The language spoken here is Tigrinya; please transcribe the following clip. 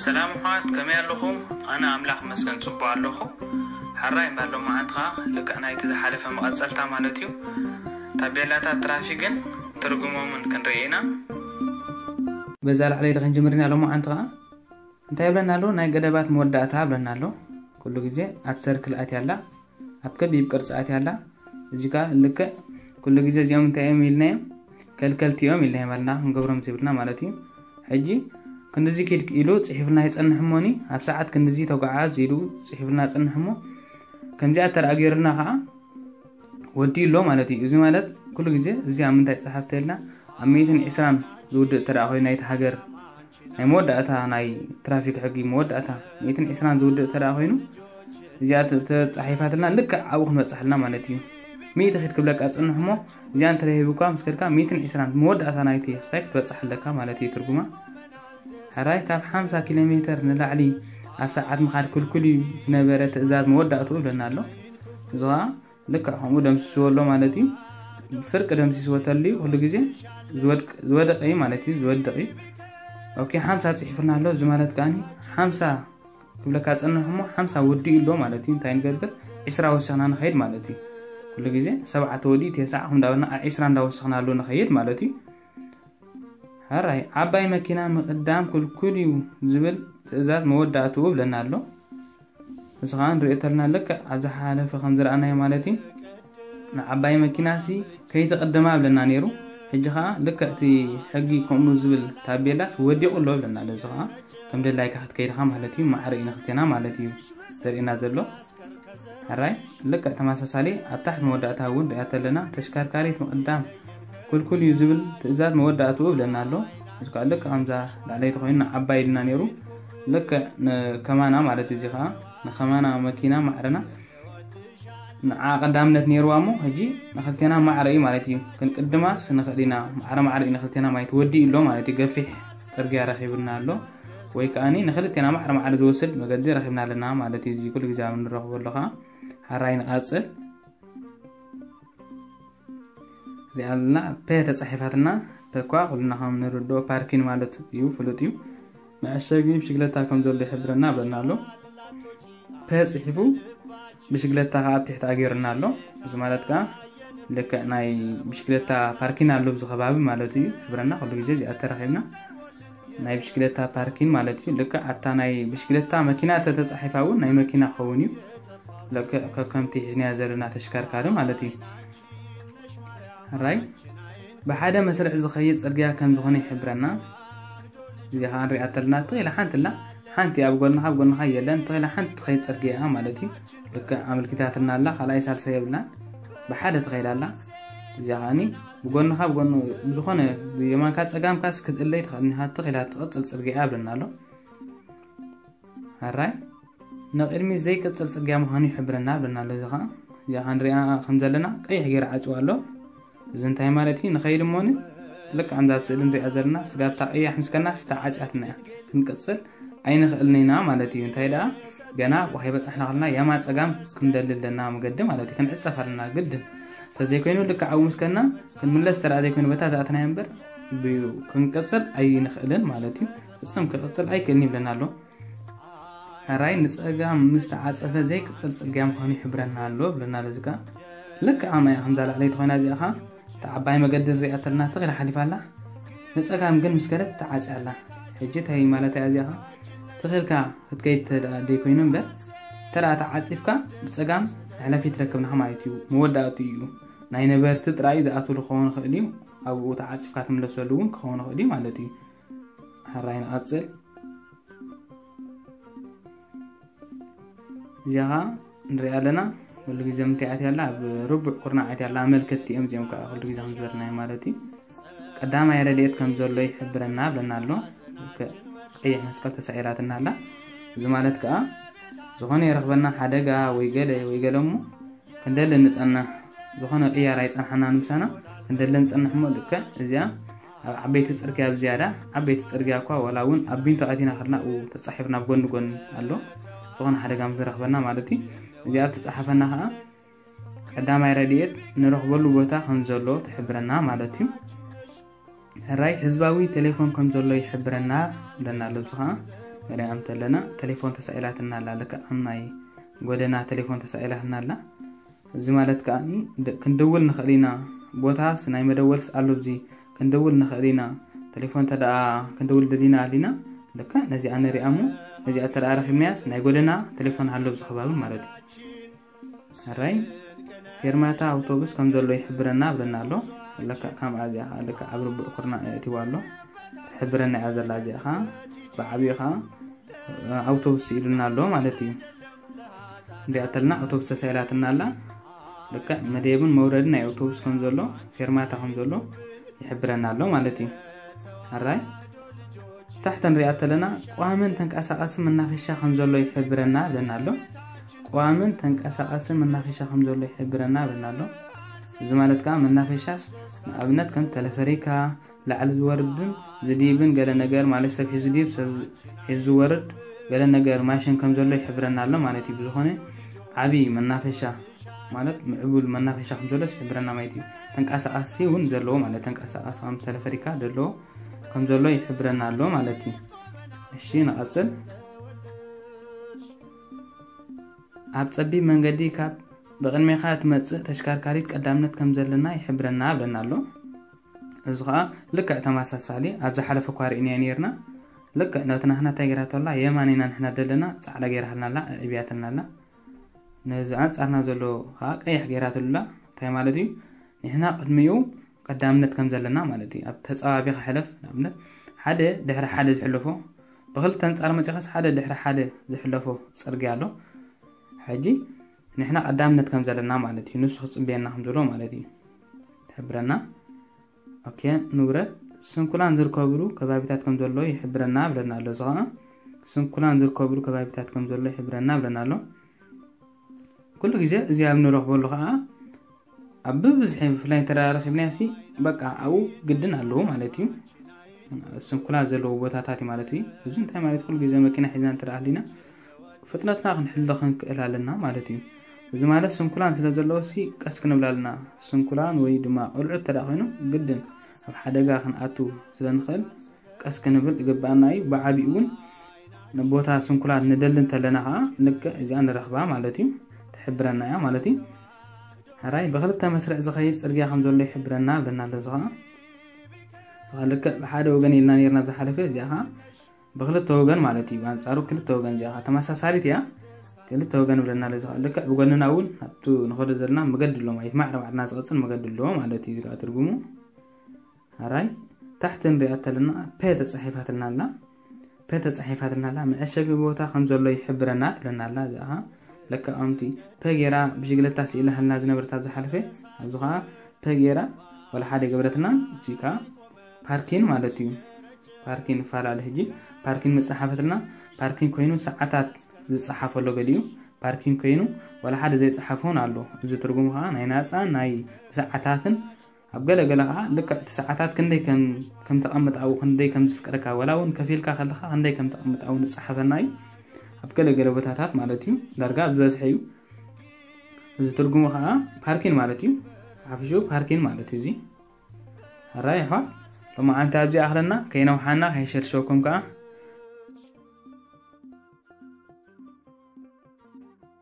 ሰላም ኣሕዋት፣ ከመይ ኣለኹም? ኣነ ኣምላኽ መስገን ጽቡቕ ኣለኹ። ሕራይ እምበር ሎማዓንቲ ኸኣ ልክዕ ናይቲ ዝሓለፈ መቐጸልታ ማለት እዩ። ታቤላታት ትራፊክን ትርጉሞምን ክንርኢ ኢና። በዛ ላዕለይቲ ክንጅምር ኢና ሎማዓንቲ ኸኣ። እንታይ ይብለና ኣሎ? ናይ ገደባት መወዳእታ ይብለና ኣሎ። ኩሉ ግዜ ኣብ ሰርክል ኣትያ ኣላ፣ ኣብ ከቢብ ቅርጺ ኣትያ ኣላ። እዚ ከኣ ልክዕ ኩሉ ግዜ እዚኦም እንታይ እዮም ኢልና እዮም? ከልከልቲ እዮም ኢልና እዮም ኣልና፣ ክንገብሮም ዘይብልና ማለት እዩ። ሕጂ ክንድዚ ኪድ ኢሉ ጽሒፍልና ይጸንሕ እሞኒ፣ ኣብ ሰዓት ክንድዚ ተጓዓዝ ኢሉ ጽሒፍልና ይጸንሕ እሞ፣ ከምዚኣ ተደኣ ገይሩልና ከኣ ወዲኡ ኣሎ ማለት እዩ። እዚ ማለት ኩሉ ግዜ እዚ ኣብ ምንታይ ጸሓፍቲ ኢልና፣ ኣብ ሚእትን ዕስራን ዝውድእ ተደኣ ኮይኑ ናይቲ ሃገር ናይ መወዳእታ ናይ ትራፊክ ሕጊ መወዳእታ ሚእትን ዕስራን ዝውድእ ተደኣ ኮይኑ፣ እዚኣ ተ-፣ ተጻሒፋትልና ልክዕ ኣብኡ ክንበጽሓልና ማለት እዩ። ሚእቲ ኪድ ክብለካ ጽንሕ እሞ፣ እዚኣ እንተ ሂቡካ ምስ ከድካ ሚእትን ዕስራን መወዳእታ ናይቲ ስታይ ክትበጽሕ ኣለካ ማለት እዩ ትርጉማ። ሕራይ ካብ ሓምሳ ኪሎ ሜተር ንላዕሊ ኣብ ሰዓት ምኻድ ክልኩል እዩ ዝነበረ ትእዛዝ መወዳእትኡ ይብለና ኣሎ። እዚ ኸኣ ልክዕ ከምኡ ደምሲስዎ ኣሎ ማለት እዩ። ፍርቂ ደምሲስዎ ተልዩ ኩሉ ግዜ ዝወድቅ-፣ ዝወደቀ እዩ ማለት እዩ፣ ዝወድቅ እዩ። ኦኬ፣ ሓምሳ ጽሒፍና ኣሎ። እዚ ማለት ከኣኒ ሓምሳ ክብለካ ጸንሕ እሞ ሓምሳ ወዲኡ ኣሎ ማለት እዩ። እንታይ ንገብር? ዕስራ ወሲኽና ንኸይድ ማለት እዩ። ኩሉ ግዜ ሰብዓ ተወዲኡ ተስዓ ከም እንዳበልና ዒስራ እንዳወሰኽናሉ ንኸይድ ማለት እዩ። ሕራይ ዓባይ መኪና ምቕዳም ክልኩል እዩ ዝብል ትእዛዝ መወዳእትኡ ብለና ኣሎ። እዚ ኸኣ ንሪኦ ተለና ልክዕ ኣብ ዝሓለፈ ከም ዝረኣናዮ ማለት እዩ። ንዓባይ መኪናሲ ከይትቕድማ ብለና ነይሩ። ሕጂ ኸኣ ልክዕ እቲ ሕጊ ከምኡ ዝብል ታቤላስ ወዲቑ ኣሎ ብለና ኣሎ። እዚ ኸኣ ከም ደላይካ ክትከይድኻ ማለት እዩ። ማዕረ እዩ ንኽልቴና ማለት እዩ ዘርእየና ዘሎ። ሕራይ ልክዕ ተመሳሳሊ ኣብ ታሕቲ መወዳእታ እውን ሪኣ ተለና ተሽከርካሪት ምቕዳም ክልኩል እዩ ዝብል ትእዛዝ መወዳእትኡ ብለና ኣሎ። እዚ ከኣ ልክዕ ከምዛ ላዕለይቲ ኮይኑ ንዓባይ ኢልና ነይሩ። ልክዕ ንከማና ማለት እዩ። እዚ ከኣ ንከማና መኪና ማዕረና ንዓ ቀዳምነት ነይርዋ እሞ፣ ሕጂ ንኽልቴና ማዕረ እዩ ማለት እዩ። ክንቅድማስ ንኽእል ኢና። ማዕረ ማዕረ እዩ ንኽልቴና ማለት ወዲኡ ኣሎ ማለት እዩ። ገፊሕ ጽርግያ ረኺብና ኣሎ። ወይ ከኣኒ ንኽልቴና ማዕረ ማዕረ ዝወስድ መገዲ ረኺብና ኣለና ማለት እዩ። እዚ ኩሉ ግዜ ኣብ ንረኽቦ ኣሎ ኸኣ ሕራይ ንቐጽል። እዚኣ ኣለና ፐ ተጻሒፋትና፣ ፐ እኳ ኩልና ከም ንርድኦ ፓርኪን ማለት እዩ፣ ፍሉጥ እዩ። መዐሸጊ ብሽግለታ ከም ዘሎ ይሕብረና ብለና ኣሎ። ፐ ጽሒፉ ብሽግለታ ከኣ ኣብ ትሕቲ ኣገይሩና ኣሎ። እዚ ማለት ከኣ ልክዕ ናይ ብሽግለታ ፓርኪን ኣሎ ኣብዚ ከባቢ ማለት እዩ። ይሕብረና ኩሉ ግዜ እዚኣ ተረኺብና ናይ ብሽግለታ ፓርኪን ማለት እዩ። ልክዕ ኣብታ ናይ ብሽግለታ መኪና ተተጻሒፋ እውን ናይ መኪና ክኸውን እዩ። ልክዕ ከከምቲ ሒዝናዮ ዘለና ተሽከርካሪ ማለት እዩ። ሕራይ ብሓደ መስርዕ ዝኸይድ ጽርግያ ከም ዝኾነ ይሕብረና። እዚኣ ኸኣ ንሪኣ ተለና፣ ተኺላ ሓንቲ ኣላ፣ ሓንቲ ኣብ ጎንኻ፣ ኣብ ጎንኻ የለን፣ ተኺላ ሓንቲ ትኸይድ ጽርግያ እያ ማለት እዩ። ልክዕ ኣመልኪታትና ኣላ፣ ካልኣይ ሳልሳይ የብላን፣ ብሓደ ትኸይድ ኣላ። እዚኣ ኸኣኒ ብጎንኻ፣ ብጎኑ፣ ብዝኾነ ብየማንካ ጸጋምካስ ክትእለይ ትኽእል ኢኻ፣ ተኺላ ትቕጽል ጽርግያ እያ ብለና ኣሎ። ሕራይ ንቕድሚት ዘይቅጽል ጽርግያ ምዃኑ ይሕብረና ብለና ኣሎ። እዚ ኸኣ፣ እዚኣ ኸኣ ንሪኣ ከም ዘለና ቀይሕ ገይሩ ዓጽዋ ኣሎ። እዚ እንታይ ማለት እዩ? ንኸይድ እሞኒ ልክዕ ከምዛ ኣብ ስእሊ ንሪኣ ዘለና ስጋብታ ቀያሕ ምስ ከድና ተዓጽያትና እያ። ክንቅጽል ኣይንኽእልን ኢና ማለት እዩ። እንታይ ደኣ ገና ኣብኡ ከይበጻሕና ከለና የማን ጸጋም ክንደሊ ኣለና መገዲ ማለት እዩ። ክንዕጸፍ ኣለና ግድን። እንተዘይኮይኑ ልክዕ ኣብኡ ምስ ከድና ክንምለስ ተደኣ ዘይኮይኑ በታ ዝኣተናዮ እምበር ብኡ ክንቅጽል ኣይንኽእልን ማለት እዩ። ፍጹም ክቕጽል ኣይክእልን ይብለና ኣሎ። ሕራይ ንጸጋም ምስ ተዓጸፈ ዘይቅጽል ጽርግያ ምዃኑ ይሕብረና ኣሎ ብለና ኣሎ። እዚ ከኣ ልክዕ ኣማያ ከምዛ ላዕለይቲ ኮይና እዚኣ ኸኣ እታ ዓባይ መገዲ ንሪኣ ተለና ትኽ ኢላ ሓሊፋ ኣላ። ንጸጋም ግን ምስ ከደት ተዓጽያ ኣላ። ሕጂ እንታይ ማለት እያ እዚኣ ኸኣ? ትኽ ኢልካ ክትከይድ ተደኣ ደይኮይኑ እምበር፣ እንተ ደኣ ተዓጺፍካ ብጸጋም መሕለፊ ትረክብ ኢኻ ማለት እዩ። መወዳእትኡ እዩ። ናይ ነበርቲ ጥራይ ዝኣትውሉ ክኸውን ይኽእል እዩ። ኣብኡ ተዓጺፍካ ትምለሰሉ እውን ክኸውን ይኽእል እዩ ማለት እዩ። ሕራይ ንቐጽል። እዚኣ ኸኣ ንሪኣ ኣለና። ኩሉ ግዜ ምንታይ ኣትያ ኣላ? ኣብ ርቡዕ ኩርናዕ ኣትያ ኣላ። ኣመልከትቲ እዮም እዚኦም ከኣ ኩሉ ግዜ ከም ዝበልናዮ ማለት እዩ። ቀዳማይ ረድኤት ከም ዘሎ ይሕብረና ብለና ኣሎ። ቀይሕ መስቀል ተሳኢላትና ኣላ። እዚ ማለት ከኣ ዝኾነ ይረኽበና ሓደጋ ወይ ገለ ወይ ገለ እሞ ክንደሊ ንጸንሕ። ዝኾነ ቅያር ኣይጸንሓናን ምሳና። ክንደሊ ንጸንሕ እሞ ልክዕ እዚኣ ኣብ ዓበይቲ ጽርግያ ብዝያዳ፣ ዓበይቲ ጽርግያ እኳ ዋላ እውን ኣብ ቢንቶ ኣቲና ከለና ኣብኡ ተጻሒፉ ናብ ጎኒ ጎኒ ኣሎ። ዝኾነ ሓደጋ ምስ ዝረኽበና ማለት እዩ። እዚኣ ኣብ ተጻሓፈና ከኣ ቀዳማይ ረድኤት ንረኽበሉ ቦታ ከም ዘሎ ትሕብረና ማለት እዩ። ሕራይ ህዝባዊ ቴሌፎን ከም ዘሎ ይሕብረና ብለና ኣሎ። እዚ ከኣ ንሪኣ እንተለና፣ ቴሌፎን ተሳኢላትና ኣላ። ልክዕ ከም ናይ ጎደና ቴሌፎን ተሳኢላትና ኣላ። እዚ ማለት ከኣ ክንድውል ንኽእል ኢና። ቦታስ ናይ መደወልስ ኣሎ፣ እዚ ክንድውል ንኽእል ኢና። ቴሌፎን ተደኣ ክንድውል ደሊና ኣሊና፣ ልክዕ ነዚኣ ንሪኣ እሞ፣ ነዚኣ ተደኣ ረኺብናያስ ናይ ጎደና ቴሌፎን ኣሎ ኣብዚ ከባቢ ማለት እዩ። ሕራይ ፌርማታ ኣውቶቡስ ከም ዘሎ ይሕብረና ብለና ኣሎ። ለካ ከምኣ እዚኣ ኸዓ ልክዕ ኣብ ርቡዕ ኩርና የእትዋ ኣሎ። ትሕብረና እያ ዘላ እዚኣ ኸዓ። ብዓብዩ ኸዓ ኣውቶቡስ ስኢሉና ኣሎ ማለት እዩ። እንሪኣ ተለና ኣውቶቡስ ተሳኢላትና ኣላ። ልክዕ መደብን መውረድን ናይ ኣውቶቡስ ከም ዘሎ፣ ፌርማታ ከም ዘሎ ይሕብረና ኣሎ ማለት እዩ። ሕራይ ታሕቲ ንሪኣ ተለና ቀዋምን ተንቀሳቐስን መናፈሻ ከም ዘሎ ይሕብረና ብለና ኣሎ። ቀዋምን ተንቀሳቐስን መናፈሻ ከም ዘሎ ይሕብረና ብለና ኣሎ። እዚ ማለት ከዓ መናፈሻስ ንኣብነት ከም ተለፈሪካ፣ ላዕሊ ዝወርድን ዝዲብን ገለ ነገር ማለት ሰብ ሒዙ ዝዲብ፣ ሰብ ሒዙ ዝወርድ ገለ ነገር ማሽን ከም ዘሎ ይሕብረና ኣሎ ማለት እዩ። ብዝኾነ ዓብዪ መናፈሻ ማለት ምዕቡል መናፈሻ ከም ዘሎ ይሕብረና ማለት እዩ። ተንቀሳቐሲ እውን ዘለዎ ማለት ተንቀሳቐሲ ከም ተለፈሪካ ዘለዎ ከም ዘሎ ይሕብረና ኣሎ ማለት እዩ። እሺ ንቐጽል። ኣብ ጸቢብ መንገዲ ካብ ብቕድሜኻ ትመጽእ ተሽከርካሪት ቀዳምነት ከም ዘለና ይሕብረና ብለና ኣሎ። እዚ ኸዓ ልክዕ ተመሳሳሊ ኣብ ዝሓለፈ እኳ ርኢናዮ ነይርና። ልክዕ ነቲ ናህና እንታይ ገይራቶ ኣላ? የማን ኢና ንሕና ዘለና፣ ጻዕዳ ገይራትና ኣላ፣ ኣዕብያትና ኣላ። ነዚ ኣንጻርና ዘሎ ኸዓ ቀይሕ ገይራትሉ ኣላ። እንታይ ማለት እዩ? ንሕና ቅድሚኡ ቀዳምነት ከም ዘለና ማለት እዩ። ኣብ ተጻባቢኻ ሕለፍ፣ ንኣብነት ሓደ ድሕሪ ሓደ ዝሕለፎ፣ ብኽልተ ኣንጻር መጺኻስ ሓደ ድሕሪ ሓደ ዝሕለፎ ጽርግያ ኣሎ። ሕጂ ንሕና ቀዳምነት ከም ዘለና ማለት እዩ። ንሱ ክጽበየና ከም ዘሎ ማለት እዩ። ትሕብረና። ኦኬ፣ ንውረድ። ስንኩላን ዝርከብሉ ከባቢታት ከም ዘሎ ይሕብረና ብለና ኣሎ። እዚ ኸዓ ስንኩላን ዝርከብሉ ከባቢታት ከም ዘሎ ይሕብረና ብለና ኣሎ። ኩሉ ግዜ እዚ ኣብ ንረኽበሉ ኸዓ ኣብ ብብዝሒ ብፍላይ እንተ ረኺብናዮ ሲ በቃ ኣብኡ ግድን ኣለዎ ማለት እዩ። ስንኩላን ዘለዎ ቦታታት እዩ ማለት እዩ። እዚ እንታይ ማለት ኩሉ ግዜ መኪና ሒዝና እንተ ሃሊና ፍጥነትና ክንሕሎ ክንክእል ኣለና ማለት እዩ። እዚ ማለት ስንኩላን ስለ ዘለዎ ሲ ቀስ ክንብል ኣለና። ስንኩላን ወይ ድማ ቆልዑ እንተ ደኣ ኮይኑ ግድን ኣብ ሓደጋ ክንኣቱ ስለ ንኽእል ቀስ ክንብል ይግባኣና እዩ። ብዓቢኡ እውን ንቦታ ስንኩላን ንደሊ እንተለና ኸዓ ልክዕ እዚኣ ንረኽባ ማለት እዩ። ትሕብረና እያ ማለት እዩ። ሕራይ ብኽልተ መስርዕ ዝኸይድ ጽርግያ ከም ዘሎ ይሕብረና ብለና ኣሎ። እዚ ኸዓ እዚ ኸዓ ልክዕ ብሓደ ወገን ኢልና ነይርና ኣብ ዝሓለፈ፣ እዚኣ ኸዓ ብኽልተ ወገን ማለት እዩ። ብኣንጻሩ ክልተ ወገን እዚኣ ኸዓ ተመሳሳሊት እያ። ክልተ ወገን ብለና ኣሎ። እዚ ኸዓ ልክዕ ብጎንና እውን ኣብቱ ንኸዶ ዘለና መገዲ ኣሎ ማለት ማዕረ ባዕልና ዝቐጽል መገዲ ኣሎ ማለት እዩ። እዚ ኸዓ ትርጉሙ ሕራይ ታሕቲ ንሪኣ ተለና ፐ ተጻሒፋትና ኣላ። ፐ ተጻሒፋትና ኣላ። መዐሸጊ ቦታ ከም ዘሎ ይሕብረና ትብለና ኣላ። እዚኣ ኸዓ ለካ ከምቲ ፐ ጌራ ብሽግለታ ስኢላትና ዝነበረት ኣብ ዝሓለፈ፣ ኣብዚ ኸዓ ፐ ጌራ ዋላ ሓደ ገበረትና። እዚ ኸዓ ፓርኪን ማለት እዩ። ፓርኪን ይፈላለ። ሕጂ ፓርኪን መጻሓፈትና፣ ፓርኪን ኮይኑ ሰዓታት ዝጸሓፈ ኣሎ ገሊኡ፣ ፓርኪን ኮይኑ ዋላ ሓደ ዘይጸሓፈ እውን ኣሎ። እዚ ትርጉሙ ኸዓ ናይ ናጻን ናይ ሰዓታትን ኣብ ገለ ገለ ኸዓ ልክዕ እቲ ሰዓታት ክንደይ ከም፣ ከም ተቐምጥ ኣብኡ ክንደይ ከም ዝፍቀደካ፣ ዋላ እውን ከፊልካ ከለኻ ክንደይ ከም ተቐምጥ ኣብኡ ዝጸሓፈና እዩ። ኣብ ገለ ገለ ቦታታት ማለት እዩ፣ ዳርጋ ኣብ ዝበዝሐ እዩ። እዚ ትርጉሙ ኸዓ ፓርኪን ማለት እዩ። ሓፊሹ ፓርኪን ማለት እዩ። እዚ ሕራይ ኣሕዋት፣ ሎማዓንቲ ኣብዚ ኣኽለና፣ ከይነውሓና፣ ከይሸርሸወኩም ከኣ